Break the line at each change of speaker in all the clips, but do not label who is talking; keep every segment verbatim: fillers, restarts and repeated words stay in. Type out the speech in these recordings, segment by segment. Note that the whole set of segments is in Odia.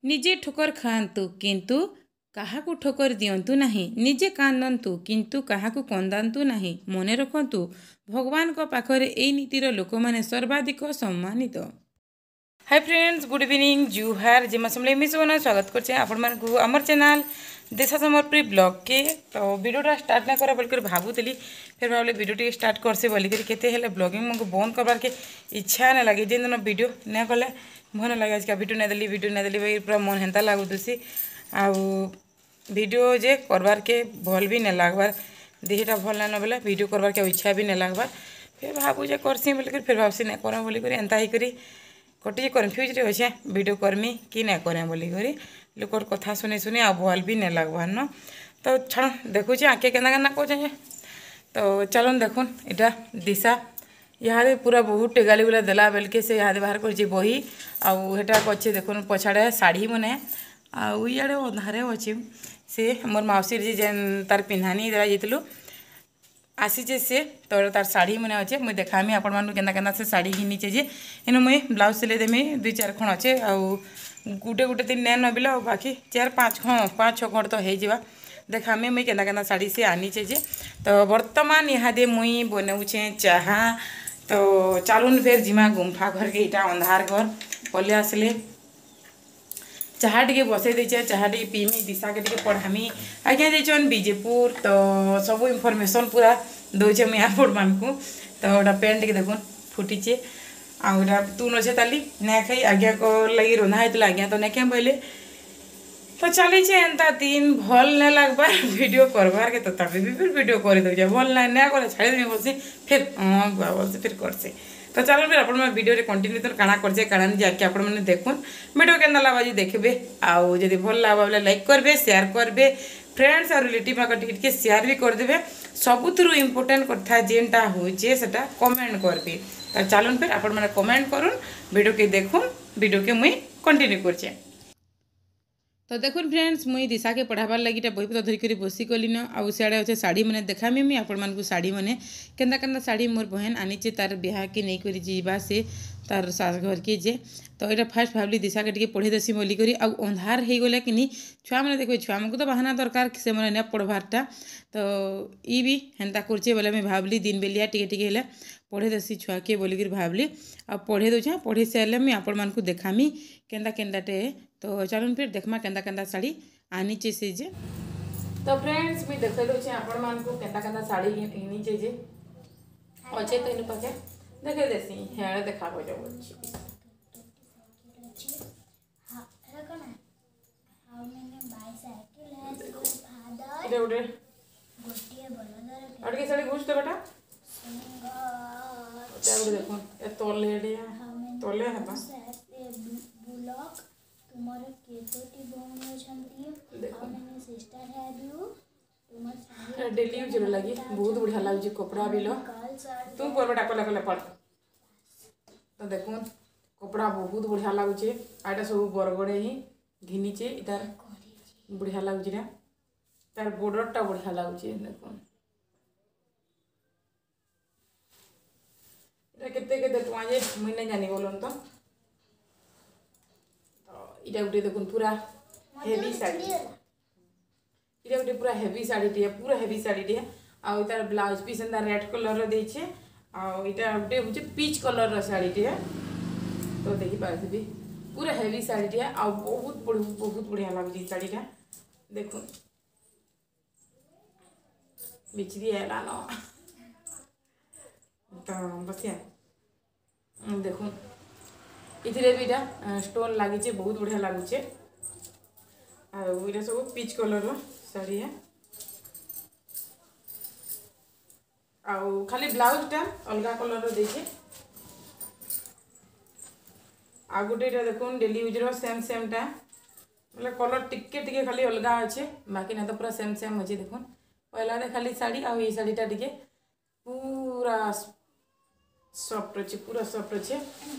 ନିଜେ ଠୋକର ଖାଆନ୍ତୁ କିନ୍ତୁ କାହାକୁ ଠୋକର ଦିଅନ୍ତୁ ନାହିଁ। ନିଜେ କାନ୍ଦନ୍ତୁ କିନ୍ତୁ କାହାକୁ କନ୍ଦାନ୍ତୁ ନାହିଁ। ମନେ ରଖନ୍ତୁ, ଭଗବାନଙ୍କ ପାଖରେ ଏଇ ନୀତିର ଲୋକମାନେ ସର୍ବାଧିକ ସମ୍ମାନିତ। ହାଇ ଫ୍ରେଣ୍ଡସ୍, ଗୁଡ୍ ଇଭିନିଂ, ଜୁହାର, ଜୟ ମା ସମଲେଇ। ମୁଇଁ ସୁବର୍ଣ୍ଣା ସ୍ୱାଗତ କରୁଛେ ଆପଣମାନଙ୍କୁ ଆମର ଚ୍ୟାନେଲ୍ ଦେଶା ସମର୍ପି ବ୍ଲଗ୍କେ। ତ ଭିଡ଼ିଓଟା ଷ୍ଟାର୍ଟ ନା କରା ବୋଲିକରି ଭାବୁଥିଲି, ଫେର୍ ଭାବିଲି ଭିଡ଼ିଓ ଟିକେ ଷ୍ଟାର୍ଟ କରସି ବୋଲିକରି। କେତେ ହେଲେ ବ୍ଲଗିଂ ମୋତେ ବନ୍ଦ କରବାର୍କେ ଇଚ୍ଛା ନାଇଁ ଲାଗେ। ଯେନ୍ ଦିନ ଭିଡ଼ିଓ ନାଇଁ କଲେ ମନ ଲାଗେ, ଆଜିକା ଭିଡ଼ିଓ ନାଇଁ ଦେଲି, ଭିଡ଼ିଓ ନାଇଁ ଦେଲି ବୋଲି ପୁରା ମନ ହେନ୍ତା ଲାଗୁଥିସି। ଆଉ ଭିଡ଼ିଓ ଯେ କରବାର୍କେ ଭଲ୍ ବି ନାଇଁ ଲାଗ୍ବାର୍। ଦେହଟା ଭଲ୍ ନାଇଁ ବେଲେ ଭିଡ଼ିଓ କରବାର୍କେ ଆଉ ଇଚ୍ଛା ବି ନାଇଁ ଲାଗ୍ବାର୍। ଫେର୍ ଭାବୁଛେ କରସି ବୋଲିକରି, ଫେର୍ ଭାବସି ନାଇଁ କର ବୋଲିକରି। ଏନ୍ତା ହେଇକରି କଟି କନଫ୍ୟୁଜ୍ରେ ଅଛେ, ଭିଡ଼ିଓ କର୍ମି କି ନାଇଁ କରେ ବୋଲିକରି। ଲୋକର କଥା ଶୁନି ଶୁନି ଆଉ ଭଲ୍ ବି ନାଇଁ ଲାଗ୍ବାର୍ ନ। ତ ଛାଡ଼, ଦେଖୁଛେ ଆଗ୍କେ କେନ୍ତା କେନ୍ତା କହୁଛେ। ତ ଚାଲୁନ୍, ଦେଖୁନ୍, ଏଇଟା ଦିଶା ଇହାଦେ ପୁରା ବହୁତ ଗାଲି ଗୁଲା ଦେଲା ବେଲକେ ସେ ଇହାଦେ ବାହାର କରିছে ବହି। ଆଉ ହେଟା କରିছে, ଦେଖୁନ୍, ପଛାଡ଼େ ଶାଢ଼ୀ ମାନେ। ଆଉ ଇଆଡ଼େ ଅନ୍ଧାରେ ଅଛେ। ସେ ମୋର୍ ମାଉସୀର ଯେ ଯେନ୍ ତାର୍ ପିନ୍ଧାନି ଦେଲା ଯାଇଥିଲୁ, ଆସିଛେ ସେ। ତ ତାର୍ ଶାଢ଼ୀ ମାନେ ଅଛେ, ମୁଇଁ ଦେଖାମି ଆପଣମାନଙ୍କୁ କେନ୍ତା କେନ୍ତା ସେ ଶାଢ଼ୀ ଘିନିଛେ ଯେ। ଏନୁ ମୁଇଁ ବ୍ଲାଉଜ୍ ସିଲେଇ ଦେମି, ଦୁଇ ଚାରି ଖଣ୍ଡ ଅଛେ। ଆଉ ଗୁଟେ ଗୁଟେ ଦିନ ନାଇଁ ନବିଲେ ଆଉ ବାକି ଚାରି ପାଞ୍ଚ, ହଁ, ପାଞ୍ଚ ଛଅ ଖଣ୍ଡ ତ ହେଇଯିବା। ଦେଖାମି ମୁଇଁ କେନ୍ତା କେନ୍ତା ଶାଢ଼ୀ ସେ ଆନିଛେ ଯେ। ତ ବର୍ତ୍ତମାନ ଇହାଦେ ମୁଇଁ ବନଉଛେ ଚାହା। ତ ଚାଲୁନ୍ ଫେର୍ ଯିମା ଗୁମ୍ଫା ଘରକେ। ଏଇଟା ଅନ୍ଧାର ଘର ପଲେଇ ଆସିଲେ। ଚାହା ଟିକେ ବସେଇ ଦେଇଛେ, ଚାହା ଟିକେ ପିଇମି, ଦିଶାକେ ଟିକେ ପଢ଼ାମି। ଆଜ୍ଞା ଯାଇଛନ୍ ବିଜେପୁର, ତ ସବୁ ଇନଫର୍ମେସନ୍ ପୁରା ଦଉଛେ ମୁଇଁ ଆପଣମାନଙ୍କୁ। ତ ଏଇଟା ପେନ୍ ଟିକେ ଦେଖୁନ୍ ଫୁଟିଛେ। ଆଉ ଏଇଟା ତୁନ୍ ଅଛେ ତାଲି ନାଇଁ ଖାଇ। ଆଜ୍ଞାଙ୍କ ଲାଗି ରନ୍ଧା ହେଇଥିଲା, ଆଜ୍ଞା ତ ନାଇଁ ଖାଇ ବୋଇଲେ। ତ ଚାଲିଛେ ଏନ୍ତା ଦିନ। ଭଲ୍ ନାଇଁ ଲାଗ୍ବାର୍ ଭିଡ଼ିଓ କରବାର୍ କେ, ତଥାପି ବି ଫିର୍ ଭିଡ଼ିଓ କରିଦେଉଛେ। ଭଲ୍ ନାଇଁ ନାଇଁ କଲେ ଛାଡ଼ିଦେମି ବସି, ଫିର୍ ହଁ ଗୁଆ ବସି ଫିର୍ କରସି। ତ ଚାଲୁନ୍ ଫିର୍ ଆପଣମାନେ ଭିଡ଼ିଓରେ କଣ୍ଟିନ୍ୟୁ ତ କାଣା କରିଛେ କାଣା ନି ଯାଇକି ଆପଣମାନେ ଦେଖୁନ୍। ଭିଡ଼ିଓ କେନ୍ତା ଲାଗ୍ବା ଯେ ଦେଖିବେ। ଆଉ ଯଦି ଭଲ୍ ଲାଗ୍ବା ବୋଲେ ଲାଇକ୍ କରିବେ, ସେୟାର କରିବେ, ଫ୍ରେଣ୍ଡସ୍ ଆଉ ରିଲେଟିଭ୍ ପାଖେ ଟିକେ ଟିକେ ସେୟାର ବି କରିଦେବେ। ସବୁଥିରୁ ଇମ୍ପୋର୍ଟାଣ୍ଟ କଥା ଯେନ୍ଟା ହଉଛେ, ସେଟା କମେଣ୍ଟ କରିବେ। ତ ଚାଲୁନ୍ ଫିର୍ ଆପଣମାନେ କମେଣ୍ଟ କରୁନ୍, ଭିଡ଼ିଓକେ ଦେଖୁନ୍, ଭିଡ଼ିଓକେ ମୁଇଁ କଣ୍ଟିନ୍ୟୁ କରୁଛେ। ତ ଦେଖୁନ୍ ଫ୍ରେଣ୍ଡସ୍, ମୁଇଁ ଦିଶାକେ ପଢ଼ାବାର୍ ଲାଗି ଇଟା ବହିପତ୍ର ଧରିକରି ବସିଗଲିନ। ଆଉ ସିଆଡ଼େ ଅଛେ ଶାଢ଼ୀ ମାନେ। ଦେଖାମି ମୁଇଁ ଆପଣମାନଙ୍କୁ ଶାଢ଼ୀ ମାନେ, କେନ୍ତା କେନ୍ତା ଶାଢ଼ୀ ମୋର୍ ବହେନ ଆନିଛେ, ତାର୍ ବିହାକେ ନେଇକରି ଯିବା ସେ ତାର୍ ଶାଶ ଘରକେ ଯେ। ତ ଏଇଟା ଫାର୍ଷ୍ଟ ଭାବଲି ଦିଶାକେ ଟିକେ ପଢ଼େଇ ଦେସି ବୋଲିକରି। ଆଉ ଅନ୍ଧାର ହେଇଗଲା କିନି ଛୁଆମାନେ ଦେଖିବେ, ଛୁଆମାନଙ୍କୁ ତ ବାହାନା ଦରକାର, ସେମାନେ ନାଇଁ ପଢ଼ବାରଟା। ତ ଇ ବି ହେନ୍ତା କରୁଛେ ବୋଲେ ମୁଇଁ ଭାବଲି ଦିନ ବେଲିଆ ଟିକେ ଟିକେ ହେଲେ ପଢ଼େଇ ଦେସି ଛୁଆକେ ବୋଲିକରି ଭାବଲି। ଆଉ ପଢ଼େଇ ଦେଉଛେଁ। ପଢ଼େଇ ସାରିଲେ ମୁଇଁ ଆପଣମାନଙ୍କୁ ଦେଖାମି କେନ୍ତା କେନ୍ତାଟେ। ତ ଚାଲୁନ୍ ଫିର୍ ଦେଖମା କେନ୍ତା କେନ୍ତା ଶାଢ଼ୀ ଆନିଛେ ସେ ଯେ। ତ ଫ୍ରେଣ୍ଡସ୍, ମୁଇଁ ଦେଖେଇ ଦେଉଛେ ଆପଣମାନଙ୍କୁ କେନ୍ତା କେନ୍ତା ଶାଢ଼ୀ ଘିନିଛେ ଯେ। ଅଛେ ତ ଇନୁ ପାଖେ, ଦେଖେଇ ଦେସି, ହେଆଡ଼େ ଦେଖାବ ଯାଉଛି।
ଅଛି ଏଟା କ'ଣ? How many bicycle has your father?
ଏଇଟା ଗୋଟେ
ଗୋଟିଏ ବଳଦର
ଆଉ ଟିକେ ଶାଢ଼ୀ ଘୁଷ ଦେବାଟା।
ଶିଙ୍ଗ
ଏଟା ଗୋଟେ ଦେଖୁନ୍, ଏ ତଲେ ଏଡ଼ିଆ
How many
ତଲେ ହେବା।
horses has a bullock? ତୁମର କେତୋଟି ଭଉଣୀ ଅଛନ୍ତି? How
ଦେଖୁନ୍।
many sister have you? ତୁମ ସ୍ୱାମୀ
ଡେଲି ୟୁଜ୍ ଲାଗି ବହୁତ ବଢ଼ିଆ ଲାଗୁଛି କପଡ଼ା ବି ଲ।
girls are
ତୁ ପରବେଟା କଲେ କଲେ ପଢ଼। ତ ଦେଖୁନ୍, କପଡ଼ା ବହୁତ ବଢ଼ିଆ ଲାଗୁଛେ। ଆଉ ଏଇଟା ସବୁ ବରଗଡ଼େ ହିଁ ଘିନିଛେ। ଏଟାର ବଢ଼ିଆ ଲାଗୁଛି ନା, ତାର ବର୍ଡରଟା ବଢ଼ିଆ ଲାଗୁଛି। ଦେଖୁନ୍, ଏଟା କେତେ କେତେ ଟଙ୍କା ଯେ ମୁଇଁ ନାଇଁ ଜାନି ବୋଲନ୍। ତ ତ ଏଇଟା ଗୋଟେ ଦେଖୁନ୍, ପୁରା ହେଭି ଶାଢ଼ୀ। ଏଇଟା ଗୋଟେ ପୁରା ହେଭି ଶାଢ଼ୀଟିଏ, ପୁରା ହେଭି ଶାଢ଼ୀଟିଏ। ଆଉ ତାର ବ୍ଲାଉଜ ପିସ୍ ଏନ୍ତା ରେଡ୍ କଲର୍ର ଦେଇଛେ। ଆଉ ଏଇଟା ଗୋଟେ ହଉଛି ପିଚ୍ କଲର୍ର ଶାଢ଼ୀଟିଏ। ତ ଦେଖିପାରୁଥିବେ, ପୁରା ହେଭି ଶାଢ଼ୀଟିଏ ଆଉ ବହୁତ ବହୁତ ବଢ଼ିଆ ଲାଗୁଛି ଏଇ ଶାଢ଼ୀଟା। ଦେଖୁନ୍, ବିଚରି ହେଲାନ ତ ବସିଆ। ଦେଖୁନ୍, ଏଥିରେ ବି ଏଇଟା ଷ୍ଟୋନ୍ ଲାଗିছে, ବହୁତ ବଢ଼ିଆ ଲାଗୁଛେ। ଆଉ ଏଇଟା ସବୁ ପିଚ୍ କଲର୍ର ଶାଢ଼ୀ। ଆଉ ଖାଲି ବ୍ଲାଉଜଟା ଅଲଗା କଲର୍ର ଦେଇଛେ। ଆଉ ଗୋଟେ ଏଇଟା ଦେଖୁନ୍, ଡେଲି ୟୁଜ୍ର ସେମ୍ ସେମ୍ଟା ବୋଲେ କଲର୍ ଟିକେ ଟିକେ ଖାଲି ଅଲଗା ଅଛେ, ବାକି ନା ତ ପୁରା ସେମ୍ ସେମ୍ ଅଛି। ଦେଖୁନ୍, ପହିଲାରେ ଖାଲି ଶାଢ଼ୀ ଆଉ ଏଇ ଶାଢ଼ୀଟା ଟିକେ ପୁରା ସଫ୍ଟ ଅଛି, ପୁରା ସଫ୍ଟ ଅଛି।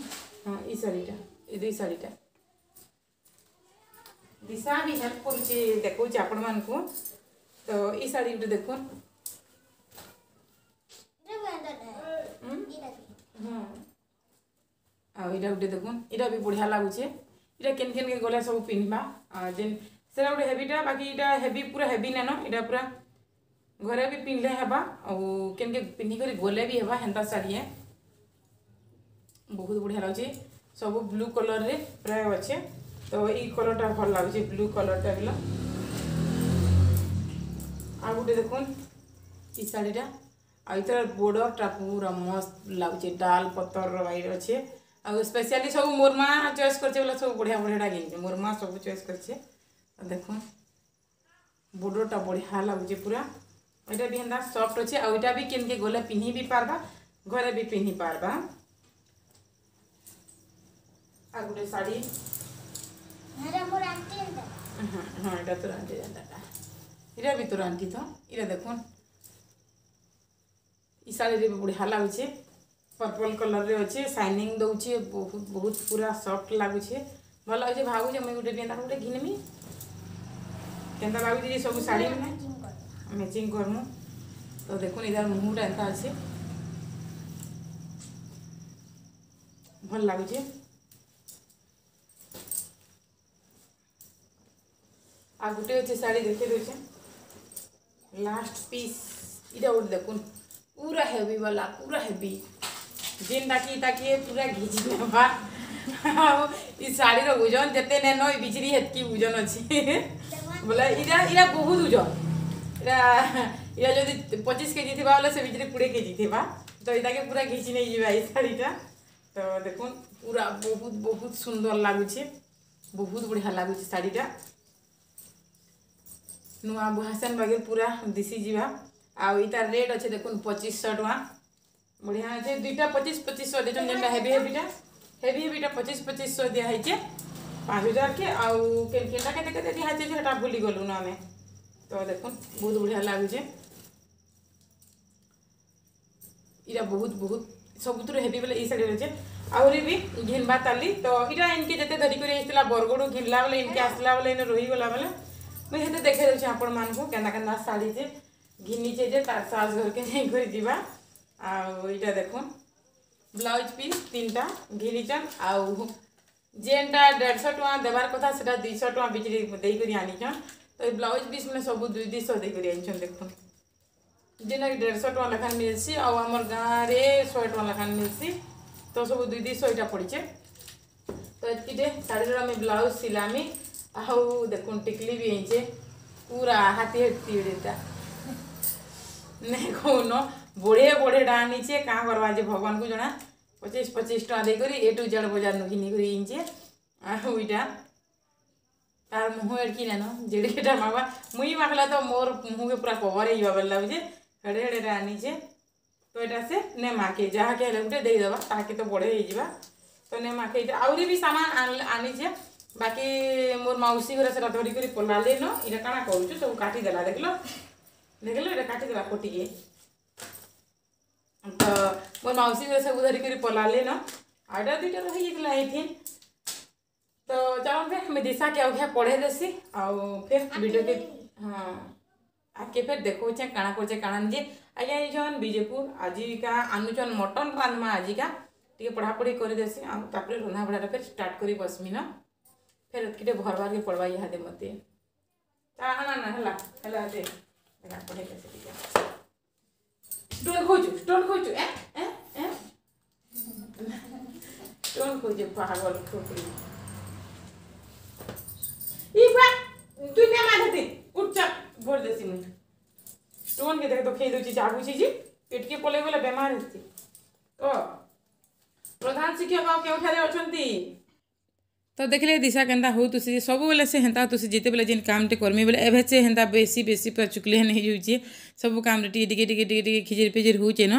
ହଁ, ଏଇ ଶାଢ଼ୀଟା, ଏଇ ଦୁଇ ଶାଢ଼ୀଟା ଦିଶା ବି ହେଲ୍ପ କରୁଛି, ଦେଖଉଛି ଆପଣମାନଙ୍କୁ। ତ ଏଇ ଶାଢ଼ୀ ଗୋଟେ ଦେଖୁନ୍। ହୁଁ, ଆଉ ଏଇଟା ଗୋଟେ ଦେଖୁନ୍, ଏଇଟା ବି ବଢ଼ିଆ ଲାଗୁଛେ। ଏଇଟା କେନ୍ କେନ୍କେ ଗଲେ ସବୁ ପିନ୍ଧବା ଯେନ୍ ସେଟା ଗୋଟେ ହେଭିଟା ବାକି ଏଇଟା ହେଭି ପୁରା ହେଭି ନାଇନ ଏଇଟା ପୁରା ଘରେ ବି ପିନ୍ଧଲେ ହେବା ଆଉ କେନ୍କେ ପିନ୍ଧିକରି ଗଲେ ବି ହେବା ହେନ୍ତା ଶାଢ଼ୀ ଏ ବହୁତ ବଢ଼ିଆ ଲାଗୁଛି ସବୁ ବ୍ଲୁ କଲର୍ରେ ପ୍ରାୟ ଅଛେ ତ ଏଇ କଲର୍ଟା ଭଲ ଲାଗୁଛି ବ୍ଲୁ କଲର୍ଟା ବିଲ ଆଉ ଗୋଟେ ଦେଖୁନ୍ ଇ ଶାଢ଼ୀଟା ଆଉ ଏଇଟାର ବୋର୍ଡରଟା ପୁରା ମସ୍ତ ଲାଗୁଛେ ଡାଲ ପତରର ବାଇରେ ଅଛେ ଆଉ ସ୍ପେଶିଆଲି ସବୁ ମୋର୍ ମା ଚଏସ୍ କରିଛେ ବୋଲେ ସବୁ ବଢ଼ିଆ ବଢ଼ିଆଟା ଘିନିଛେ ମୋର୍ ମା ସବୁ ଚଏସ୍ କରିଛେ ଦେଖୁନ୍ ବୋର୍ଡରଟା ବଢ଼ିଆ ଲାଗୁଛେ ପୁରା ଏଇଟା ବି ହେନ୍ତା ସଫ୍ଟ ଅଛେ ଆଉ ଏଇଟା ବି କେନ୍କେ ଗଲେ ପିନ୍ଧି ବି ପାରବା ଘରେ ବି ପିନ୍ଧି ପାରବା ଆଉ ଗୋଟେ ଶାଢ଼ୀ
ଏଟା ମୋର ଆଣ୍ଟି ଏନ୍ତା
ହଁ ହଁ ଏଇଟା ତୋର ଆଣ୍ଟି ଯେନ୍ତାଟା ଏଇଟା ବି ତୋର ଆଣ୍ଟି ତ ଏଇଟା ଦେଖୁନ୍ ଇ ଶାଢ଼ୀରେ ବି ବଢ଼ିଆ ଲାଗୁଛେ ପର୍ପଲ୍ କଲର୍ରେ ଅଛେ ସାଇନିଂ ଦଉଛେ ବହୁତ ବହୁତ ପୁରା ସଫ୍ଟ ଲାଗୁଛେ ଭଲ ଲାଗୁଛେ ଭାବୁଛେ ମୁଇଁ ଗୋଟେ ବି ଏନ୍ତା ଗୋଟେ ଘିନମି କେନ୍ତା ଲାଗୁଛେ ଯେ ସବୁ ଶାଢ଼ୀ ମାନେ
ମ୍ୟାଚିଂ କର
ମ୍ୟାଚିଂ କରମୁ ତ ଦେଖୁନ୍ ଇଧାର ମୁହୁଁଟା ଏନ୍ତା ଅଛି ଭଲ ଲାଗୁଛେ ଆଉ ଗୋଟେ ଅଛି ଶାଢ଼ୀ ଦେଖେଇ ଦଉଛେ ଲାଷ୍ଟ ପିସ୍ ଇଟା ଗୋଟେ ଦେଖୁନ୍ ପୁରା ହେଭି ବାଲା ପୁରା ହେଭି ଯେନ୍ଟାକି ତାକେ ପୁରା ଘିଚି ନେବା ଆଉ ଇ ଶାଢ଼ୀର ଓଜନ ଯେତେ ନେନ ଇ ବିଚରି ହେତ୍କି ଓଜନ ଅଛି ବୋଲେ ଇଟା ଇଟା ବହୁତ ଓଜନ ଇଟା ଇଟା ଯଦି ପଚିଶ କେଜି ଥିବା ବୋଲେ ସେ ବିଚରି କୋଡ଼ିଏ କେଜି ଥିବା ତ ଇଟାକେ ପୁରା ଘିଚି ନେଇଯିବା ଏଇ ଶାଢ଼ୀଟା ତ ଦେଖୁନ୍ ପୁରା ବହୁତ ବହୁତ ସୁନ୍ଦର ଲାଗୁଛେ ବହୁତ ବଢ଼ିଆ ଲାଗୁଛେ ଶାଢ଼ୀଟା ନୂଆ ବୁହାସେନ୍ ବାଗିର ପୁରା ଦିଶି ଯିବା ଆଉ ଇତାର ରେଟ୍ ଅଛେ ଦେଖୁନ୍ ପଚିଶଶହ ଟଙ୍କା ବଢ଼ିଆ ଅଛେ ଦୁଇଟା ପଚିଶ ପଚିଶଶହ ଦେଇଛନ୍ ଯେନ୍ଟା ହେଭି ହେଭିଟା ହେଭି ହେଭିଟା ପଚିଶ ପଚିଶଶହ ଦିଆ ହେଇଛେ ପାଞ୍ଚ ହଜାର କେ ଆଉ କେନ୍ କେନ୍ଟା କେତେ କେତେ ଦିଆ ହେଇଛେ ସେଟା ଭୁଲି ଗଲୁନ ଆମେ ତ ଦେଖୁନ୍ ବହୁତ ବଢ଼ିଆ ଲାଗୁଛେ ଇଟା ବହୁତ ବହୁତ ସବୁଥିରୁ ହେଭି ବେଲେ ଏଇ ଶାଢ଼ୀ ଅଛେ ଆହୁରି ବି ଘିନବା ତାଲି ତ ଇଟା ଇନକେ ଯେତେ ଧରିକରି ଆସିଥିଲା ବରଗଡ଼ୁ ଘିନଲା ବେଲେ ଇନକେ ଆସିଲା ବେଲେ ଇନେ ରହିଗଲା ବେଲେ ମୁଇଁ ହେତେ ଦେଖେଇ ଦଉଛେ ଆପଣମାନଙ୍କୁ କେନ୍ତା କେନ୍ତା ଶାଢ଼ୀ ଯେ ଘିନିଛେ ଯେ ତାର ଶାଶ ଘରକେ ଯାଇକରି ଯିବା ଆଉ ଏଇଟା ଦେଖୁନ୍ ବ୍ଲାଉଜ ପିସ୍ ତିନିଟା ଘିନିଛନ୍ ଆଉ ଯେନ୍ଟା ଦେଢ଼ଶହ ଟଙ୍କା ଦେବାର କଥା ସେଟା ଦୁଇଶହ ଟଙ୍କା ବିକ୍ରି ଦେଇକରି ଆନିଛନ୍ ତ ଏଇ ବ୍ଲାଉଜ ପିସ୍ ମାନେ ସବୁ ଦୁଇ ଦୁଇଶହ ଦେଇକରି ଆନିଛନ୍ ଦେଖୁନ୍ ଯେନ୍ଟାକି ଦେଢ଼ଶହ ଟଙ୍କା ଲେଖାନ୍ ମିଲ୍ସି ଆଉ ଆମର୍ ଗାଁରେ ଶହେ ଟଙ୍କା ଲେଖାନ୍ ମିଲ୍ସି ତ ସବୁ ଦୁଇ ଦୁଇଶହ ଏଇଟା ପଡ଼ିଛେ ତ ଏତ୍କିଟେ ଶାଢ଼ୀର ଆମେ ବ୍ଲାଉଜ ସିଲାମି ଆଉ ଦେଖୁନ୍ ଟିକଲି ବି ହେଇଛେ ପୁରା ହାତୀ ହେତି ଏଇଟା ନାଇଁ କହୁନ ବଢ଼ିଆ ବଢ଼ିଆଟା ଆନିଛେ କାଁ କରବା ଯେ ଭଗବାନକୁ ଜଣା ପଚିଶ ପଚିଶ ଟଙ୍କା ଦେଇକରି ଏ ଟୁ ଜେଡ଼ ବଜାରନୁ ଘିନିକରି ଆନିଛେ ଆଉ ଏଇଟା ତାର ମୁହଁ ଏଡ଼କି ନାନ ଯେଡ଼େଟା ମାଗବା ମୁଇଁ ମାଗଲା ତ ମୋର୍ ମୁହଁକେ ପୁରା କଭର ହେଇଯିବା ବେଲେ ଲାଗୁଛେ ହେଡ଼େ ହେଡ଼େଟା ଆନିଛେ ତ ଏଇଟା ସେ ନେ ମାକେ ଯାହାକେ ହେଲେ ଗୋଟେ ଦେଇଦେବା ତାହାକେ ତ ବଢ଼େ ହେଇଯିବା ତ ନେ ମାକେ ଏଇଟା ଆହୁରି ବି ସାମାନ ଆନିଛେ ବାକି ମୋର୍ ମାଉସୀ ଘରେ ସେଟା ଧରିକରି ପଲାଲେ ନ ଏଇଟା କାଣା କରୁଛୁ ସବୁ କାଟିଦେଲା ଦେଖିଲ ଦେଖିଲ ଏଇଟା କାଟିଦେଲା କଟିକି ତ ମୋର୍ ମାଉସୀ ଘରେ ସବୁ ଧରିକରି ପଲାଲେ ନ ଆଉ ଏଇଟା ଦୁଇଟା ରହିଯାଇଥିଲା ଏଇଥିନ୍ ତ ଚାଲୁନ୍ ଫେର୍ ମୁଇଁ ଦିଶାକେ ଆଉ ଘିଆ ପଢ଼େଇ ଦେସି ଆଉ ଫେର୍ ଭିଡ଼ିଓକେ ହଁ ଆଗ୍କେ ଫେର୍ ଦେଖଉଛେ କାଣା କରୁଛେ କାଣା ନିଜେ ଆଜ୍ଞା ଯାଇଛନ୍ ବିଜେପୁର ଆଜିକା ଆନୁଛନ୍ ମଟନ୍ ରାନ୍ଧମା ଆଜିକା ଟିକେ ପଢ଼ାପଢ଼ି କରିଦେସି ଆଉ ତାପରେ ରନ୍ଧା ବଢ଼ାଟା ଫେର୍ ଷ୍ଟାର୍ଟ କରି ବସ୍ମି ନ ଫେର୍ ଏତ୍କିଟେ ଭରବାର୍କେ ପଡ଼ବା ଇହାଦେ ମତେ ତା ନା ନା ହେଲା ହେଲା ଦେ ଦେଖା ପଢ଼େଇ ଦେସି ଟିକେ ଷ୍ଟୋନ୍ ଖୋଜୁ ଷ୍ଟୋନ୍ ଖୋଜୁ ଏ ଏ ଏ ଷ୍ଟୋନ୍ ଖୋଜେ ପାଗଲ ଛୋକରି ଇ ବା তুই নে মাঝে উঠ চা ভর দেସି মুই স্টোন কে দেখ তো খেয়ে দউছি জাগুছি যে পেটকে পলাই গলে বেমার হচ্ছে তো প্রধান শিক্ষক ଆଉ କେଉଁଠାରେ ଅଛନ୍ତି ତ ଦେଖିଲେ ଦିଶା କେନ୍ତା ହଉଥିସି ସବୁବେଲେ ସେ ହେନ୍ତା ହଉଥିସି ଯେତେବେଲେ ଯେନ୍ କାମଟେ କର୍ମି ବେଲେ ଏବେ ସେ ହେନ୍ତା ବେଶୀ ବେଶୀ ପୁରା ଚୁକ୍ଲି ହେନ୍ ହେଇଯାଉଛେ ସବୁ କାମରେ ଟିକେ ଟିକେ ଟିକେ ଟିକେ ଟିକେ ଖିଜିର୍ ଫିଜିର୍ ହଉଛେ ନ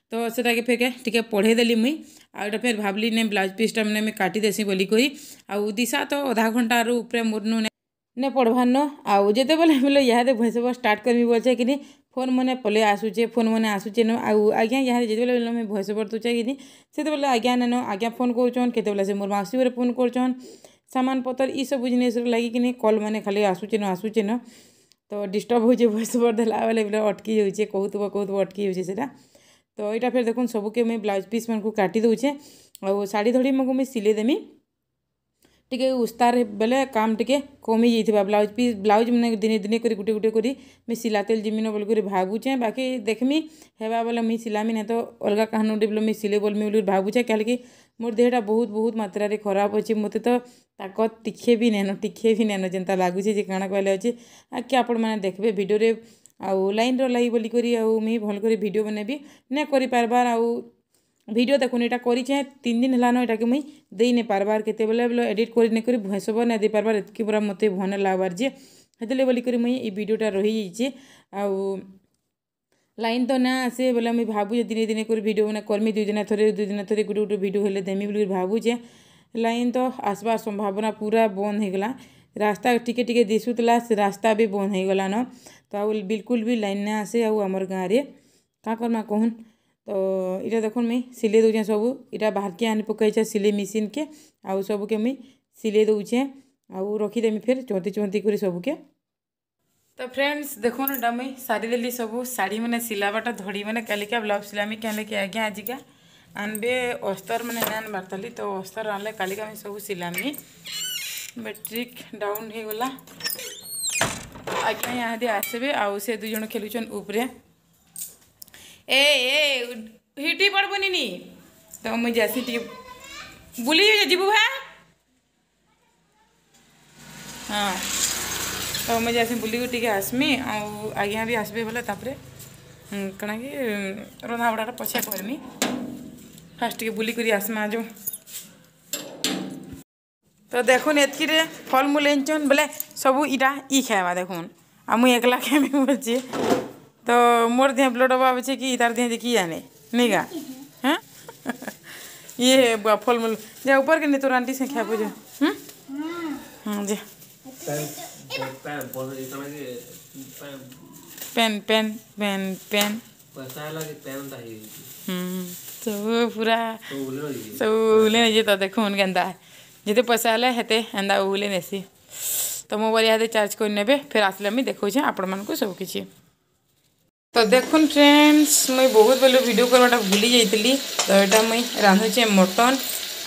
ତ ସେଟାକେ ଫେର୍ ଟିକେ ପଢ଼େଇ ଦେଲି ମୁଇଁ ଆଉ ଏଇଟା ଫେର୍ ଭାବଲି ନେ ବ୍ଲାଉଜ୍ ପିସ୍ଟା ମାନେ ମୁଇଁ କାଟିଦେସି ବୋଲିକରି ଆଉ ଦିଶା ତ ଅଧା ଘଣ୍ଟାରୁ ଉପରେ ମୋର୍ନୁ ନେ ପଢ଼ବାର୍ ନ ଆଉ ଯେତେବେଲେ ବୋଲେ ଇହାଦେ ଭଏସ୍ ଓଭର୍ ଷ୍ଟାର୍ଟ କରିବି ବୋଲଛେ କିନି ଫୋନ୍ ମାନେ ପଲେଇ ଆସୁଛେ ଫୋନ୍ ମାନେ ଆସୁଛେ ନ ଆଉ ଆଜ୍ଞା ଇହାଦେ ଯେତେବେଲେ ବେଲେ ମୁଇଁ ଭଏସ୍ ଓଭର୍ ଦଉଛେ କିନି ସେତେବେଲେ ଆଜ୍ଞା ନେନ ଆଜ୍ଞା ଫୋନ୍ କରୁଛନ୍ କେତେବେଲେ ସେ ମୋର୍ ମାଉସୀ ଘରେ ଫୋନ୍ କରୁଛନ୍ ସାମାନ ପତର ଇ ସବୁ ଜିନିଷ୍ର ଲାଗି କିନି କଲ୍ ମାନେ ଖାଲି ଆସୁଛେ ନ ଆସୁଛେ ନ ତ ଡିଷ୍ଟର୍ବ ହଉଛେ ଭଏସ୍ ଓଭର୍ ଦେଲା ବେଲେ ବେଲେ ଅଟକି ଯାଉଛେ କହୁଥିବ କହୁଥିବ ଅଟକି ଯାଉଛେ ସେଟା ତ ଏଇଟା ଫେର୍ ଦେଖୁନ୍ ସବୁକେ ମୁଇଁ ବ୍ଲାଉଜ୍ ପିସ୍ ମାନଙ୍କୁ କାଟି ଦଉଛେ ଆଉ ଶାଢ଼ୀ ଧଡ଼ି ମୁକୁ ମୁଇଁ ସିଲେଇ ଦେମି ଟିକେ ଉସ୍ତାର ବେଲେ କାମ ଟିକେ କମି ଯାଇଥିବା। ବ୍ଲାଉଜ୍ ପିସ୍ ବ୍ଲାଉଜ୍ ମାନେ ଦିନେ ଦିନେ କରି ଗୁଟେ ଗୁଟେ କରି ମୁଇଁ ସିଲାତେଲ୍ ଯିମିନ ବୋଲିକରି ଭାବୁଛେଁ। ବାକି ଦେଖ୍ମି ହେବା ବେଲେ ମୁଇଁ ସିଲାମି, ନାଇଁ ତ ଅଲଗା କାହାନୁ ଗୋଟେ ବେଲେ ମୁଇଁ ସିଲେଇ ବୋଲ୍ମି ବୋଲି ଭାବୁଛେଁ। କାହିଁକି ମୋର୍ ଦେହଟା ବହୁତ ବହୁତ ମାତ୍ରାରେ ଖରାପ ଅଛି। ମୋତେ ତ ତାକତ୍ ଟିକେ ବି ନାଇଁନ, ଟିକେ ବି ନାଇଁନ, ଯେନ୍ତା ଲାଗୁଛେ ଯେ କାଣା କହିଲେ ଅଛି ଆଗ୍କେ ଆପଣମାନେ ଦେଖ୍ବେ ଭିଡ଼ିଓରେ। ଆଉ ଲାଇନ୍ର ଲାଗି ବୋଲିକରି ଆଉ ମୁଇଁ ଭଲ୍ କରି ଭିଡ଼ିଓ ମାନେ ବି ନାଇଁ କରିପାରବାର୍। ଆଉ ଭିଡ଼ିଓ ଦେଖୁନ୍ ଏଇଟା କରିଛେଁ ତିନ୍ ଦିନ ହେଲାନ, ଏଟାକେ ମୁଇଁ ଦେଇ ନାଇଁ ପାରବାର୍। କେତେବେଲେ ବେଲେ ଏଡ଼ିଟ୍ କରି ନାଇଁ କରି ଭଏସ୍ ଓଭର୍ ନାଇଁ ଦେଇ ପାରବାର୍, ଏତ୍କି ପୁରା ମୋତେ ଭଲ୍ ନାଇଁ ଲାଗ୍ବାର୍ ଯେ ହେଥିର୍ଲାଗି ବୋଲିକରି ମୁଇଁ ଇ ଭିଡ଼ିଓଟା ରହିଯାଇଛେ। ଆଉ ଲାଇନ୍ ତ ନା ଆସେ ବେଲେ ମୁଇଁ ଭାବୁଛେ ଦିନେ ଦିନେ କରି ଭିଡ଼ିଓ ମାନେ କର୍ମି, ଦୁଇ ଦିନ ଥରେ ଦୁଇ ଦିନ ଥରେ ଗୁଟେ ଗୁଟେ ଭିଡ଼ିଓ ହେଲେ ଦେମି ବୋଲି ଭାବୁଛେଁ। ଲାଇନ୍ ତ ଆସ୍ବାର୍ ସମ୍ଭାବନା ପୁରା ବନ୍ଦ ହେଇଗଲା। ରାସ୍ତା ଟିକେ ଟିକେ ଦିଶୁଥିଲା, ସେ ରାସ୍ତା ବି ବନ୍ଦ ହେଇଗଲାନ। ତ ଆଉ ବିଲକୁଲ ବି ଲାଇନ୍ ନାଇଁ ଆସେ ଆଉ ଆମର୍ ଗାଁରେ କାଁ କର୍ମା କହୁନ୍। ତ ଇଟା ଦେଖୁନ୍ ମୁଇଁ ସିଲେଇ ଦଉଛେଁ ସବୁ, ଇଟା ବାହାରକେ ଆନି ପକେଇଛେ ସିଲେଇ ମେସିନ୍କେ, ଆଉ ସବୁକେ ମୁଇଁ ସିଲେଇ ଦଉଛେଁ ଆଉ ରଖିଦେମି ଫେର୍ ଚଉନ୍ତି ଚଉନ୍ତି କରି ସବୁକେ। ତ ଫ୍ରେଣ୍ଡସ୍ ଦେଖୁନ୍ ଏଟା ମୁଇଁ ସାରିଦେଲି ସବୁ ଶାଢ଼ୀ ମାନେ ସିଲାବାଟା ଧଡ଼ି ମାନେ କାଲିକା ବ୍ଲାଉଜ୍ ସିଲାମି। କାହିଁକି କି ଆଜ୍ଞା ଆଜିକା ଆନବେ ଅସ୍ତର ମାନେ ନାଇଁ ଆନବାର୍ ତାଲି, ତ ଅସ୍ତର ଆନଲେ କାଲିକା ମୁଇଁ ସବୁ ସିଲାମି। ବ୍ୟାଟେରୀ ଡାଉନ୍ ହେଇଗଲା। ଆଜ୍ଞା ଇହାଦେ ଆସିବେ ଆଉ ସେ ଦୁଇ ଜଣ ଖେଲୁଛନ୍ ଉପରେ। ଏ ଏ ହିଟି ପଡ଼ବୁନି ନି, ତ ମୁଇଁ ଯାସି ଟିକେ ବୁଲି ଯିବୁ ଭା। ହଁ ତ ମୁଇଁ ଯାସି ବୁଲିକି ଟିକେ ଆସ୍ମି ଆଉ ଆଜ୍ଞା ବି ଆସିବେ ବୋଲେ ତାପରେ କାଣା କି ରନ୍ଧା ବଢ଼ାଟା ପଛେ କର୍ମି, ଫାଷ୍ଟ ଟିକେ ବୁଲିକରି ଆସ୍ମା ଯୋଉ। ତ ଦେଖୁନ୍ ଏତ୍କିରେ ଫଲମୂଲ ଆନିଛନ୍ ବେଲେ ସବୁ ଇଟା ଇ ଖାଏବା ଦେଖୁନ୍, ଆଉ ମୁଇଁ ଏକଲା ଖାଇମି ବୋଲଛେ। ତ ମୋର୍ ଦେହ ବ୍ଲଡ଼ ଅଭାବ ଅଛେ କି ତାର୍ ଦେହ କି ଜାନେ ନାଇଁ କା। ହଁ ଇଏ ଫଲମୂଲ ଯା ଉପର କେ ନେ ତୋର ଆଣ୍ଟି ସେ ଖାଇବୁ ଯା। ହୁଁ ହଁ ଯା ପେନ୍ ପେନ୍ ପେନ୍ ପେନ୍ ହୁଁ ସବୁ ପୁରା ସବୁ ଉଲେ ନେଇଛେ। ତ ଦେଖୁନ୍ କେନ୍ତା ଯେତେ ପଇସା ହେଲେ ହେତେ ଏନ୍ତା ଉଲେ ନେସି। ତ ମୋବାଇଲ୍ ଇହାଦେ ଚାର୍ଜ କରି ନେବେ, ଫେର୍ ଆସିଲେ ମୁଇଁ ଦେଖଉଛେଁ ଆପଣମାନଙ୍କୁ ସବୁ କିଛି। ତ ଦେଖୁନ୍ ଫ୍ରେଣ୍ଡସ୍ ମୁଇଁ ବହୁତ ବେଲୁ ଭିଡ଼ିଓ କରବାଟା ଭୁଲି ଯାଇଥିଲି। ତ ଏଇଟା ମୁଇଁ ରାନ୍ଧୁଛେଁ ମଟନ୍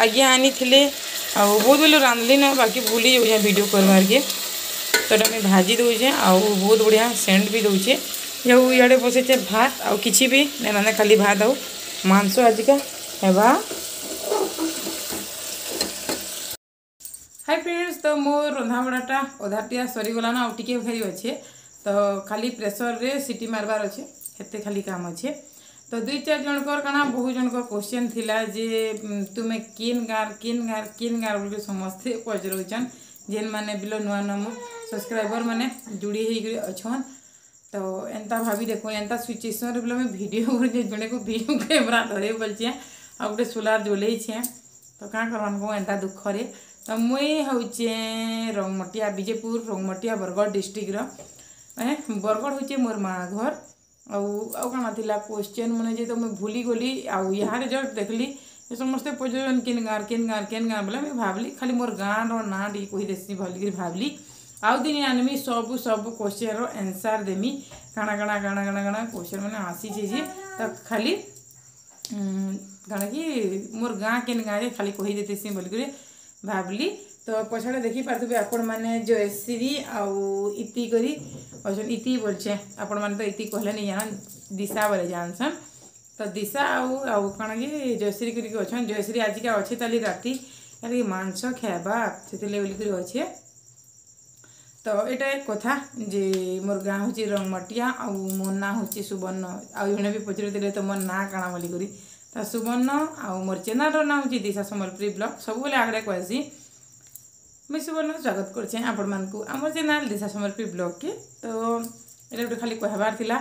ଆଜ୍ଞା ଆନିଥିଲେ, ଆଉ ବହୁତ ବେଲୁ ରାନ୍ଧଲି ନା, ବାକି ଭୁଲି ଯାଉଛେଁ ଭିଡ଼ିଓ କରବାର୍କେ। ତ ଏଇଟା ମୁଇଁ ଭାଜି ଦଉଛେଁ ଆଉ ବହୁତ ବଢ଼ିଆ ସେଣ୍ଟ ବି ଦଉଛେ। ଆଉ ଇଆଡ଼େ ବସେଇଛେ ଭାତ, ଆଉ କିଛି ବି ନାଇଁ ରାନ୍ଧେ, ଖାଲି ଭାତ ଆଉ ମାଂସ ଆଜିକା ହେବା। ହାଇ ଫ୍ରେଣ୍ଡସ୍, ତ ମୋର୍ ରନ୍ଧାବଢ଼ାଟା ଅଧାଟିଆ ସରିଗଲାନ, ଆଉ ଟିକେ ଖାଲି ଅଛେ। ତ ଖାଲି ପ୍ରେସର୍ରେ ସିଟି ମାରବାର୍ ଅଛେ, ହେତେ ଖାଲି କାମ ଅଛେ। ତ ଦୁଇ ଚାରି ଜଣଙ୍କର କାଣା ବହୁତ ଜଣଙ୍କର କ୍ୱେଶ୍ଚନ୍ ଥିଲା ଯେ ତୁମେ କେନ୍ ଗାଁର କେନ୍ ଗାଁର କେନ୍ ଗାଁର ବୋଲି ସମସ୍ତେ ପଚରଉଛନ୍, ଯେନ୍ମାନେ ବିଲ ନୂଆ ନୂଆ ମୋ ସବସ୍କ୍ରାଇବର୍ ମାନେ ଯୋଡ଼ି ହେଇକରି ଅଛନ୍। ତ ଏନ୍ତା ଭାବି ଦେଖୁନ୍ ଏନ୍ତା ସିଚୁଏସନ୍ରେ ବୋଲେ ମୁଇଁ ଭିଡ଼ିଓ କରୁଛେ, ଜଣେକୁ ଭିଡ଼ିଓ କ୍ୟାମେରା ଧରେଇ ବୋଲଛେଁ ଆଉ ଗୋଟେ ସୋଲାର ଜଲେଇଛେଁ। ତ କାଁ କର୍ବାନ୍ କହୁଁ ଏନ୍ତା ଦୁଃଖରେ। ତ ମୁଇଁ ହଉଛେଁ ରଙ୍ଗମଟିଆ ବିଜେପୁର ରଙ୍ଗମଟିଆ ବରଗଡ଼ ଡିଷ୍ଟ୍ରିକ୍ଟର। ବରଗଡ଼ ହଉଛେ ମୋର୍ ମା ଘର୍। ଆଉ ଆଉ କାଣା ଥିଲା କ୍ୱେଶ୍ଚନ୍ ମାନେ ଯେ ତ ମୁଇଁ ଭୁଲି ଗଲି। ଆଉ ଇହାଦେ ଜଷ୍ଟ ଦେଖ୍ଲି ସମସ୍ତେ ପଚରୁଛନ୍ କେନ୍ ଗାଁର କେନ୍ ଗାଁର କେନ୍ ଗାଁ ବୋଲେ ମୁଇଁ ଭାବ୍ଲି ଖାଲି ମୋର୍ ଗାଁର ନାଁ ଟିକେ କହିଦେସି ଭଲିକିରି ଭାବ୍ଲି। ଆଉ ଦିନେ ଆନ୍ମି ସବୁ ସବୁ କ୍ୱେଶ୍ଚନ୍ର ଆନ୍ସର୍ ଦେମି, କାଣା କାଣା କାଣା କାଣା କାଣା କ୍ୱେଶ୍ଚନ୍ ମାନେ ଆସିଛେ ଯେ। ତ ଖାଲି କାଣା କି ମୋର୍ ଗାଁ କେନ୍ ଗାଁରେ ଖାଲି କହିଦେଇଥିସି ବୋଲିକରି ଭାବ୍ଲି। ତ ପଛଆଡ଼େ ଦେଖିପାରୁଥିବେ ଆପଣମାନେ ଜୟଶ୍ରୀ ଆଉ ଇତି କରି ଅଛନ୍। ଇତି ବୋଲଛେ, ଆପଣମାନେ ତ ଇତି କହିଲେ ନି ଜାନନ୍, ଦିଶା ବୋଲେ ଜାନସନ୍। ତ ଦିଶା ଆଉ ଆଉ କାଣା କି ଜୟଶ୍ରୀ କରିକି ଅଛନ୍। ଜୟଶ୍ରୀ ଆଜିକା ଅଛେ ତାଲି ରାତି କାଲି ମାଂସ ଖାଏବା ସେଥିର୍ଲାଗି ବୋଲିକରି ଅଛେ। ତ ଏଇଟା ଏକ କଥା ଯେ ମୋର୍ ଗାଁ ହଉଛି ରଙ୍ଗମଟିଆ ଆଉ ମୋର୍ ନାଁ ହଉଛି ସୁବର୍ଣ୍ଣ। ଆଉ ଜଣେ ବି ପଚାରୁଥିଲେ ତୁମର୍ ନାଁ କାଣା ବୋଲିକରି, ତ ସୁବର୍ଣ୍ଣ। ଆଉ ମୋର୍ ଚ୍ୟାନେଲ୍ର ନାଁ ହଉଛି ଦିଶା ସମ୍ବଲପୁରୀ ବ୍ଲଗ୍। ସବୁବେଲେ ଆଗରେ କହେସି ମୁଇଁ ସୁବର୍ଣ୍ଣ ସ୍ୱାଗତ କରୁଛେଁ ଆପଣମାନଙ୍କୁ ଆମର ଚ୍ୟାନେଲ୍ ଦିଶା ସମ୍ବଲପୁରୀ ବ୍ଲଗ୍କେ। ତ ଏଇଟା ଗୋଟେ ଖାଲି କହିବାର ଥିଲା।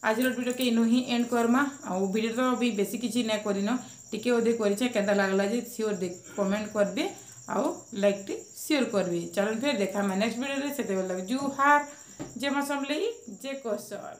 ଆଜିର ଭିଡ଼ିଓକେ ଇନୁ ହିଁ ଏଣ୍ଡ କର୍ମା। ଆଉ ଭିଡ଼ିଓ ତ ବି ବେଶୀ କିଛି ନାଇଁ କରିନ, ଟିକେ ଅଧେ କରିଛେ। କେନ୍ତା ଲାଗଲା ଯେ ସିଓର କମେଣ୍ଟ କରିବେ ଆଉ ଲାଇକ୍ଟେ ସିଓର କରିବେ। ଚାଲୁନ୍ ଫେର୍ ଦେଖାମା ନେକ୍ସଟ ଭିଡ଼ିଓରେ। ସେତେବେଳେ ଜୁହାର, ଜୟ ମା ସମଲେଇ, ଜୟ କୌଶଲ।